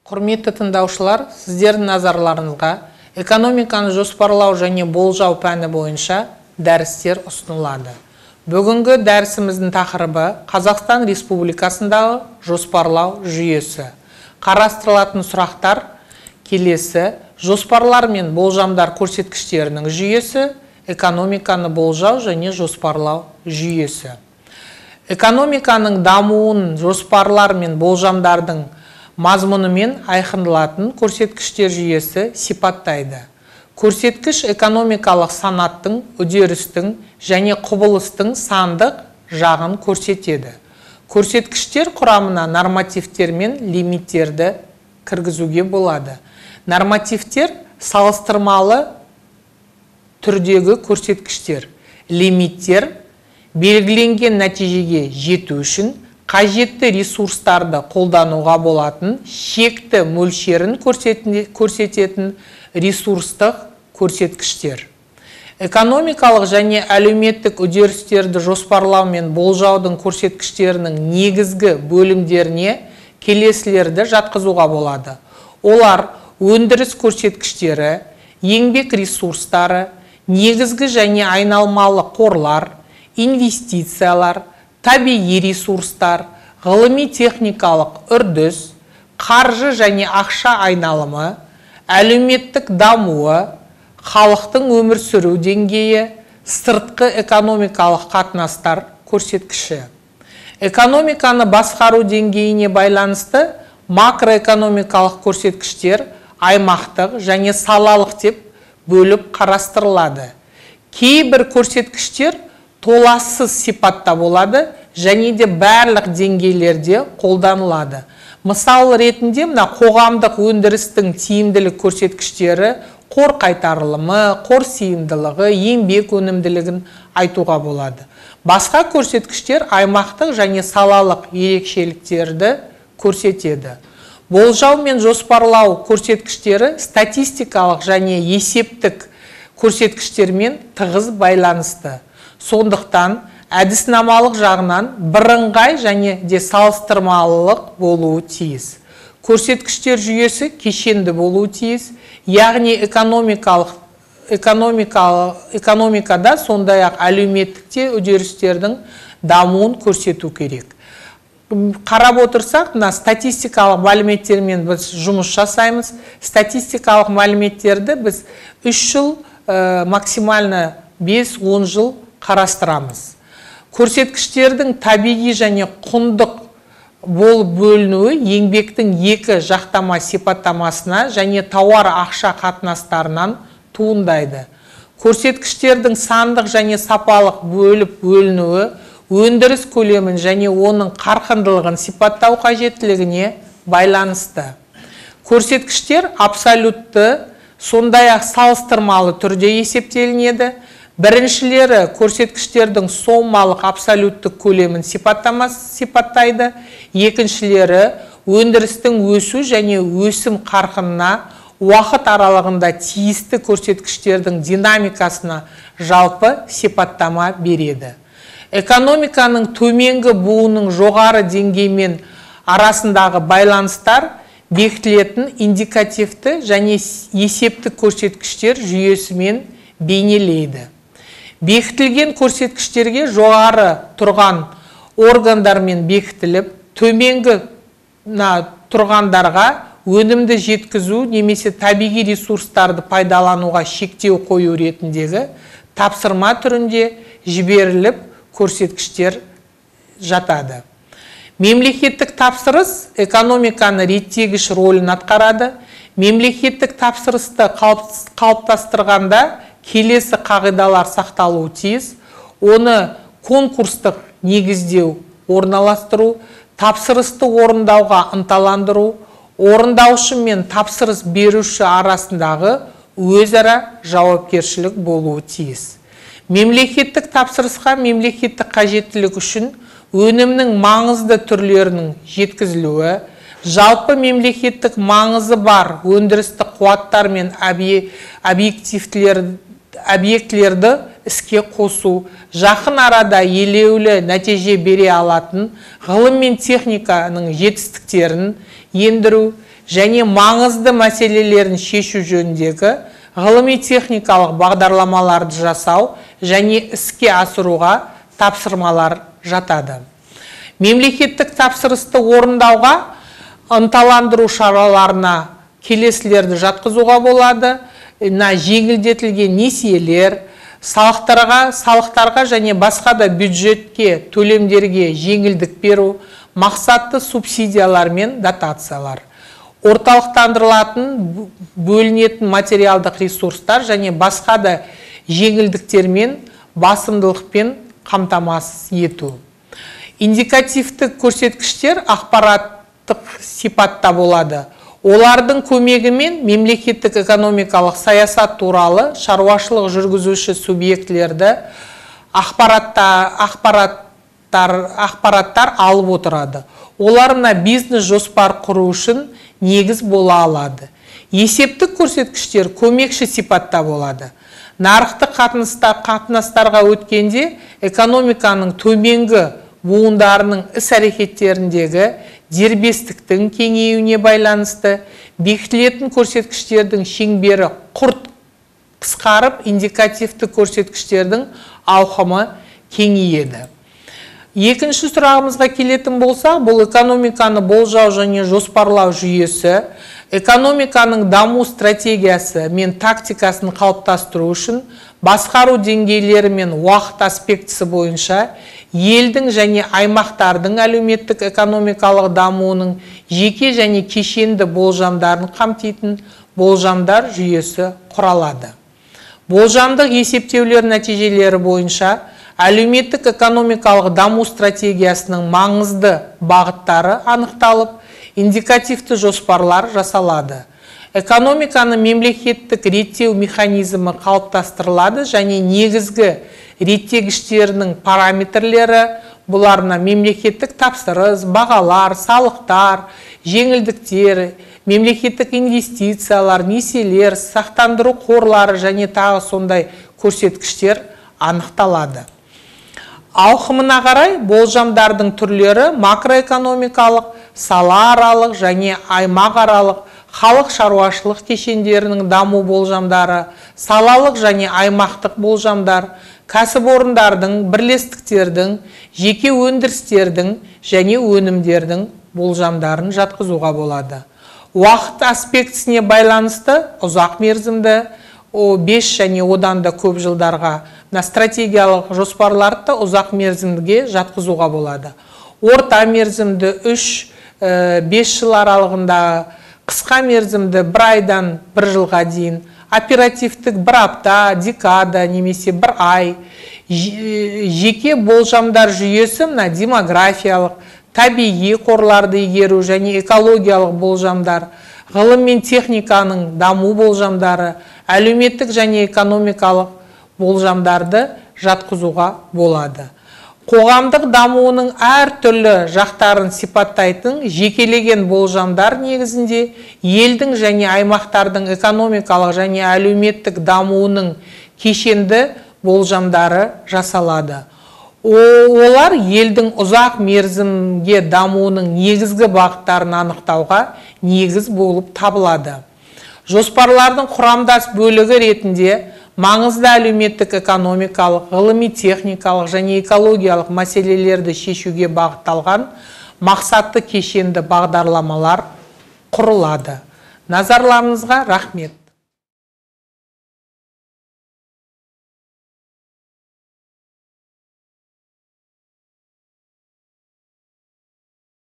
Құрметті тыңдаушылар, сіздердің назарларыңызға экономиканы жоспарлау және болжау пәні бойынша дәрістер ұсынылады. Бүгінгі дәрісіміздің тақырыбы Қазақстан Республикасындағы жоспарлау жүйесі. Қарастырылатын сұрақтар келесі: жоспарлар мен болжамдар көрсеткіштерінің жүйесі, экономиканы болжау және жоспарлау жүйесі. Экономиканың дамуын жоспарлар мен болжамдардың мазмұнымен айқындалатын көрсеткіштер жүйесі сипаттайды. Көрсеткіш экономикалық санаттың, үдерістің және құбылыстың сандық жағын көрсетеді. Көрсеткіштер құрамына нормативтер мен лимиттерді кіргізуге болады. Нормативтер салыстырмалы түрдегі көрсеткіштер. Лимиттер белгіленген нәтижеге жету үшін қажетті ресурстарды қолдануға болатын шекті мөлшерін көрсететін ресурстық көрсеткіштер. Экономикалық және әлеуметтік үдерістерді жоспарлау мен болжаудың көрсеткіштерінің негізгі бөлімдеріне келесілерді жатқызуға болады. Олар өндіріс көрсеткіштері, еңбек ресурстары, негізгі және айналмалы қорлар, инвестициялар, табиғи ресурстар, ғылыми-техникалық үрдіс, қаржы және ақша айналымы, әлеуметтік дамуы, халықтың өмір сүру деңгейі, сыртқы экономикалық қатынастар көрсеткіші. Экономиканы басқару деңгейіне байланысты макроэкономикалық көрсеткіштер аймақтық және салалық деп бөліп қарастырылады. Кейбір көрсеткіштер толассыз сипатта болады және де барлық деңгейлерде қолданылады. Мысал ретінде қоғамдық өндірістің тиімділік көрсеткіштері қор қайтарылымы, қор сыйымдылығы, еңбек өнімділігін айтуға болады. Басқа көрсеткіштер аймақтық және салалық ерекшеліктерді көрсетеді. Болжау мен жоспарлау көрсеткіштері статистикалық және есептік көрсеткіштермен тығыз байланысты. Сондықтан әдіснамалық жағынан бірыңғай және де салыстырмалылық болуы тиіс. Көрсеткіштер жүйесі кешенді болуы тиіс, яғни экономикада сондай-ақ әлеуметтікте үдерістердің дамуын көрсету керек. Қарап отырсақ, статистикалық мәліметтермен біз жұмыс жасаймыз. Статистикалық мәліметтерді біз 3 жыл, максимально 5-10 жыл қарастырамыз. Көрсеткіштердің табиғи және құндық болып бөлінуі еңбектің екі жақтама сипаттамасына және тауар ақша қатынастарынан туындайды. Көрсеткіштердің сандық және сапалық бөліп бөлінуі өндіріс көлемін және оның қарқындылығын сипаттау қажеттілігіне байланысты. Көрсеткіштер абсолютті, сондай-ақ салыстырмалы түрде есептелінеді. Біріншілері көрсеткіштердің сомалық абсолюттік көлемін сипаттайды. Екіншілері өндірістің өсу және өсім қарқынына уақыт аралығында тиісті көрсеткіштердің динамикасына жалпы сипаттама береді. Экономиканың төменгі буының жоғары деңгеймен арасындағы байланыстар бекітілетін индикативті және есептік көрсеткіштер жүйесімен бейнелейді. Бекітілген көрсеткіштерге жоғары тұрған органдармен бекітіліп, төменгі тұрғандарға өнімді жеткізу немесе табиғи ресурстарды пайдалануға шектеу қою ретіндегі тапсырма түрінде жіберіліп көрсеткіштер жатады. Мемлекеттік тапсырыс экономиканы реттегіш рөлін атқарады. Мемлекеттік тапсырысты қалыптастырғанда келесі қағидалар сақталуы тиіс. Оны конкурстық негіздеу, орналастыру, тапсырысты орындауға ынталандыру, орындаушы мен тапсырыс беруші арасындағы өзара жауапкершілік болуы тиіс. Мемлекеттік тапсырысқа мемлекеттік қажеттілік үшін өнімнің маңызды түрлерінің жеткізілуі, жалпы мемлекеттік маңызы бар өндірістік қуаттар мен объектілерді іске қосу, жақын арада елеулі нәтиже бере алатын ғылым мен техниканың жетістіктерін ендіру және маңызды мәселелерін шешу жөніндегі ғылыми-техникалық бағдарламаларды жасау және іске асыруға тапсырмалар жатады. Мемлекеттік тапсырысты орындауға ынталандыру шараларына келесілерді жатқызуға болады. Жеңілдетілген несиелер, салықтарға және басқа да бюджетке төлемдерге жеңілдік беру, мақсатты субсидиялар мен дотациялар. Орталықтандырылатын бөлінетін материалдық ресурстар және басқа да жеңілдіктермен басымдылықпен қамтамасыз ету. Индикативтік көрсеткіштер ақпараттық сипатта болады. Олардың көмегімен мемлекеттік экономикалық саясат туралы шаруашылық жүргізуші субъектілерді ақпараттар алып отырады. Оларына бизнес жоспар құру үшін негіз бола алады. Есептік көрсеткіштер көмекші сипатта болады. Нарықтық қатынастарға өткенде экономиканың төменгі буындарының іс-әрекеттеріндегі дербестіктің кеңеюіне байланысты бекітілетін көрсеткіштердің шеңбері құрт қысқарып, индикативті көрсеткіштердің ауқымы кеңейеді. Екінші сұрағымызға келетін болса, бұл экономиканы болжау және жоспарлау жүйесі, экономиканың даму стратегиясы мен тактикасын қалыптастыру үшін басқару деңгейлері мен уақыт аспектісі бойынша елдің және аймақтардың әлеуметтік экономикалық дамуының жеке және кешенді болжамдарын қамтитын болжамдар жүйесі құралады. Болжамдық есептеулер нәтижелері бойынша әлеуметтік экономикалық даму стратегиясының маңызды бағыттары анықталып, индикативті жоспарлар жасалады. Экономиканы мемлекеттік реттеу механизмі қалыптастырылады және негізгі реттегіштерінің параметрлері, бұларына мемлекеттік тапсырыс, бағалар, салықтар, жеңілдіктер, мемлекеттік инвестициялар, несиелер, сақтандыру қорлары және тағы сондай көрсеткіштер анықталады. Ауқымына қарай болжамдардың түрлері макроэкономикалық, салааралық және аймақаралық халық шаруашылық кешендерінің даму болжамдары, салалық және аймақтық болжамдар, кәсіпорындардың, бірлестіктердің, жеке өндірістердің және өнімдердің болжамдарын жатқызуға болады. Уақыт аспектісіне байланысты ұзақ мерзімді 5 және одан да көп жылдарға стратегиялық жоспарларды ұзақ мерзімге жатқызуға болады. Орта мерзімді 3-5 жыл аралығында, қысқа мерзімді 1 айдан 1 жылға дейін, оперативтік 1 апта, декада немесе 1 ай, жеке болжамдар жүйесі демографиялық, табиғи қорларды игеру және экологиялық болжамдар, ғылым мен техниканың даму болжамдары, әлеуметтік және экономикалық болжамдарды жатқызуға болады. Қоғамдық дамуының әртүрлі жақтарын сипаттайтын жекелеген болжамдар негізінде елдің және аймақтардың экономикалық және әлеуметтік дамуының кешенді болжамдары жасалады. Олар елдің ұзақ мерзімге дамуының негізгі бағыттарын анықтауға негіз болып табылады. Жоспарлардың құрамдас бөлігі ретінде маңызды әлеуметтік экономикалық, ғылыми-техникалық және экологиялық мәселелерді шешуге бағытталған мақсатты кешенді бағдарламалар құрылады. Назарларыңызға рахмет.